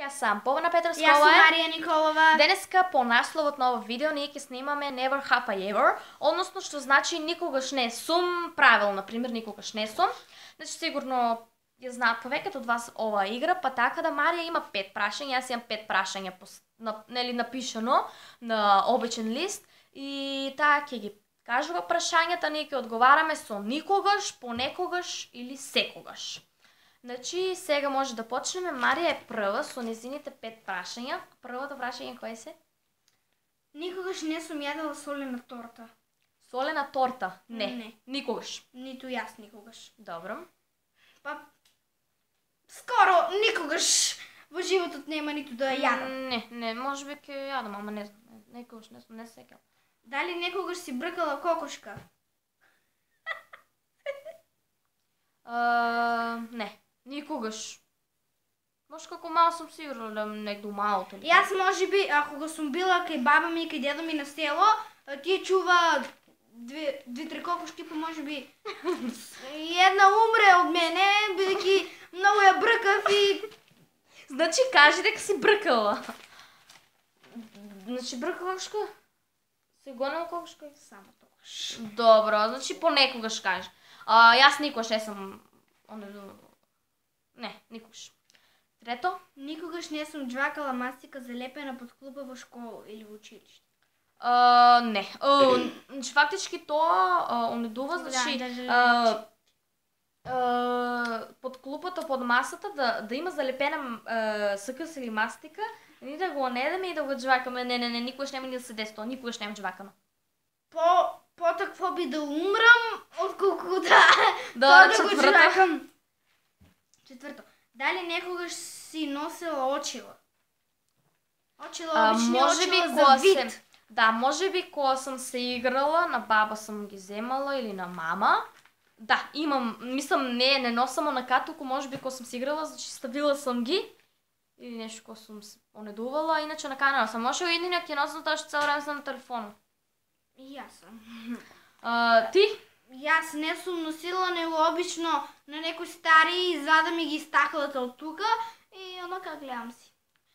Јас сам Повна Петровскова. Јас сум Марија Николова. Денеска по насловот на ова видео ние ќе снимаме Never Have I Ever, односно што значи никогаш не сум правил, например, никогаш не сум. Значи сигурно ја знаат повеќето од вас оваа игра, па така да Марија има 5 прашања, јас имам 5 прашања нели напишано на обичен лист и таа ќе ги кажува прашањата, ние ќе одговараме со никогаш, понекогаш или секогаш. Значи, сега може да почнеме. Марија е прва со незините 5 прашања. Првото прашање кој се? Никогаш не сум јадела солена торта. Солена торта? Не. Не. Никогаш. Ниту јас никогаш. Добро. Па скоро никогаш во животот нема ниту да ја јадам. Не, можеби ќе јадам, ама не знам. Некогаш не сум, не се сеќавам. Дали некогаш си бркала кокошка? Не. Никогаш. Може како мал сум сигурна да негде у малото. Јас можеби, ако го сум била кај баба ми и кај дедо ми на село, тие чува две-три кокошки, па можеби една умре од мене, бидејќи многу ја бркав и... Значи кажи дека си бркала. Значи бркала кокошка? Се гонела кокошка и само тогаш. Добро, значи понекогаш кажи. Јас никогаш не сум... Не, никогаш. Трето? Никогаш не сум џвакала мастика залепена под клупа во школа или во училиште. Не. Значи фактички тоа онедува, значи под клупата, под масата да има залепена СКС или мастика, ние да го онедеме и да го џвакаме. Не, никогаш нема ни да се деси тоа, никогаш нема џвакано. Потакво би да умрам, отколку да го џвакам. Четврто. Дали некогаш си носела очила? Очила обични очила за вид. Да, можеби кога сум се играла, на баба сум ги земала или на мама. Да, имам, мислам не носам онака, туку можеби кога сум се играла, значи ставила сум ги или нешто кога сум се онедувала, иначе на канала сам. Може единак ќе носам тоа што цел време сум на телефонот. И јас сум. Ти? Јас не сум носила, него обично на некои стари извада ми ги стаклата од тука и онака гледам си.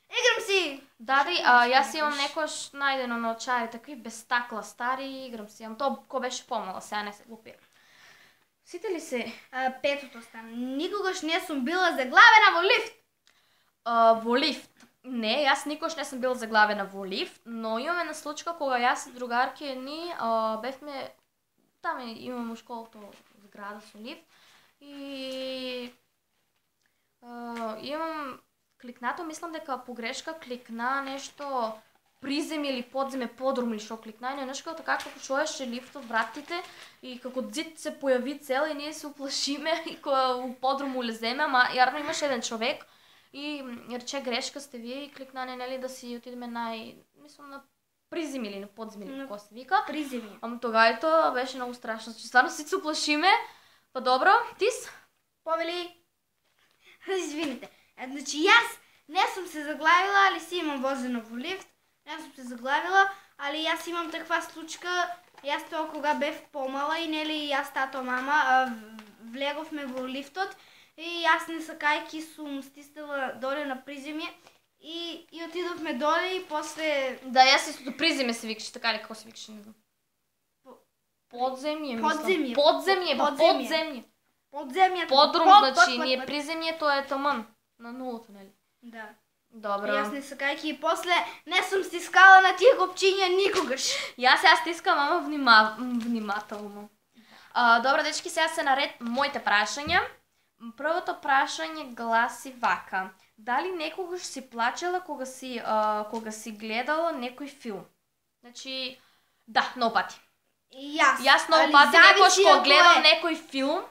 Играм си! Дади, јас имам некош најдено на очари, такви без стакла стари, играм си. Имам тоа ко беше помала, сега не се глупира. Сите ли се? Петото стана. Никогаш не сум била заглавена во лифт. Во лифт? Не, јас никогаш не сум била заглавена во лифт, но имаме на случка кога јас и другарки ни бевме таме имаме во школото зграда со лифт и имам кликнато, мислам дека погрешка кликна нешто приземје или подземе, подрум или што кликна и нешто така како чуеше лифтот вратите и како зид се појави цел и ние се уплашиме и кога у подрум улеземе, ама јарно имаше еден човек и рече грешка сте вие и кликна нели да си отидеме мислам на призем или на подзем или како се вика. Призем. Ама тогава тоа беше многу страшно, че стварно си се уплашиме. Па добро, тис? Повели. Извините. Значи јас не сум се заглавила, али си имам возено во лифт. Не сум се заглавила, али јас имам таква случка. Јас тоа кога бев помала и нели јас тато мама влеговме во лифтот и јас не сакајки сум стиснала доле на приземје. И отидовме доле и после... Да, јас истото приземе се викаше, така ли како се викаше, не знам. Подземје, мислам. Подземје. Подземје. Подрум, значи, ние приземје, тоа е таман. На нулото, нели? Да. Добро. Јас не сакајки и после не сум стискала на тие копчиња никогаш. Јас стискам, ама внимателно. Добро, дечки, сега се наред моите прашања. Првото прашање гласи вака. Дали некогаш си плачела кога си гледала некој филм? Значи, да, многу пати. Јас многу пати некогаш кога гледам некој филм,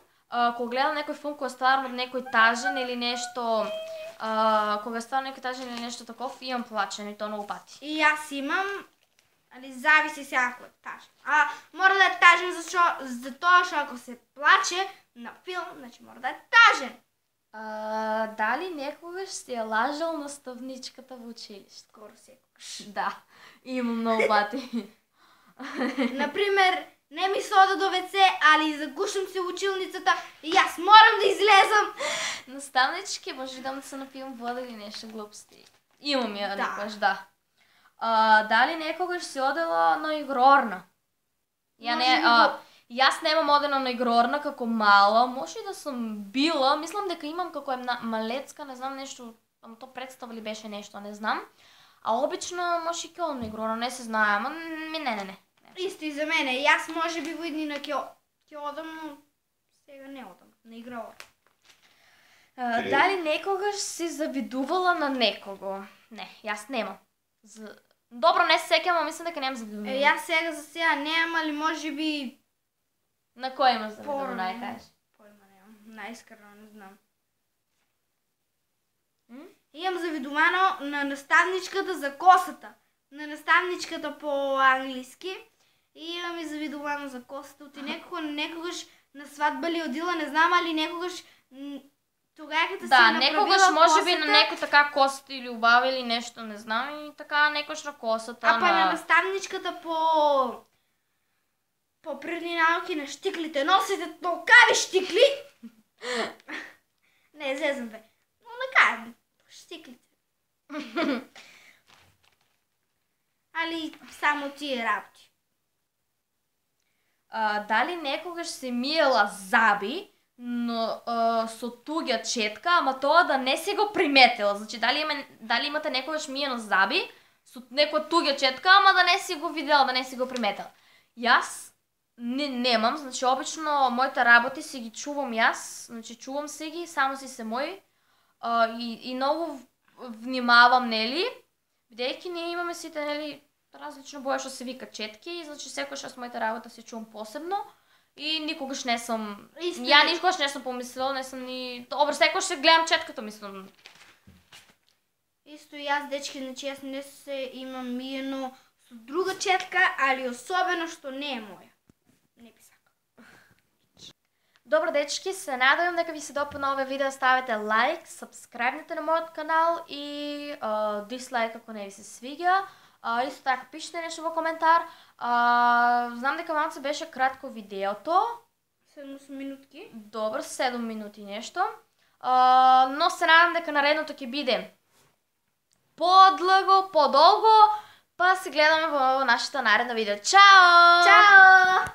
кога стварно некој тажен или нешто, кога стварно некој тажен или нешто таков, имам плачење и тоа многу пати. И јас имам, али зависи се ако е тажен. Мора да е тажен затоа што ако се плаче на филм, значи мора да е тажен. Дали некогаш си ја лажал наставничката во училиште? Скоро секогаш. Да, имам многу пати. Например, не ми се ода до WC, али загушам се училницата и јас морам да излезам. Наставнички, може да се напијам вода или нешто глупости. Имам ја Да. некојаш, да. Дали некогаш си одела на игрорна? Јас немам одена на игрорна како мала, може и да сум била, мислам дека имам како малецка, не знам нешто, ама то представа ли беше нешто, не знам. А обично може и ќе одам на игрорна, не се знае, ама не. Исто и за мене, јас може би во иднина ќе одам, но сега не одам на игрорна. Дали некогаш си завидувала на некого? Не, јас немам. Добро, не се сеќам, ама мислам дека немам завидуване. Јас сега за сега немам, али може би... На кој имаш завидуване, ај кажеш? Појма немам, најискрено не знам. Имам завидувано на наставничката за косата. На наставничката по англиски. И имам и завидувано за косата. Оти некогаш на свадба ли одила, не знам, али некогаш тогава като си направила некогаш косата... може би на некој така косата или убава или нешто, не знам, и така некогаш на косата. А па на наставничката по природни науки на штиклите. Носите толкави штикли. Не, зезам бе. Но накај, штиклите. Али само тие работи. Дали некогаш се миела заби, но со туѓа четка, ама тоа да не си го приметила. Значи, дали имате некогаш миено заби со некоја туѓа четка, ама да не си го видела, да не си го приметила. Јас немам, значи обично моите работи си ги чувам јас, значи чувам си ги, само си се мои и многу внимавам, нели, бидејќи ние имаме сите, нели, различно боја што се вика четки, значи секојаш јас моите работи си чувам посебно. И никогаш не сум... Ја никогаш не сум помислила, не сум ни... Добро, секогаш се гледам четката, мислам. Исто и јас, дечки, значи јас не се имам миено со друга четка, али особено што не е моја. Не би сакала. Добро, дечки, се надевам дека ви се допадна овој видео, ставете лайк, сабскрајбнете на мојот канал и дислайк ако не ви се свиѓа. Исто така, пишете нешто во коментар. Знам дека малце беше кратко видеото. 7 минутки. Добро, 7 минути нешто. Но се надам дека наредното ќе биде подлго, подолго, па се гледаме во нашата наредна видео. Чао! Чао!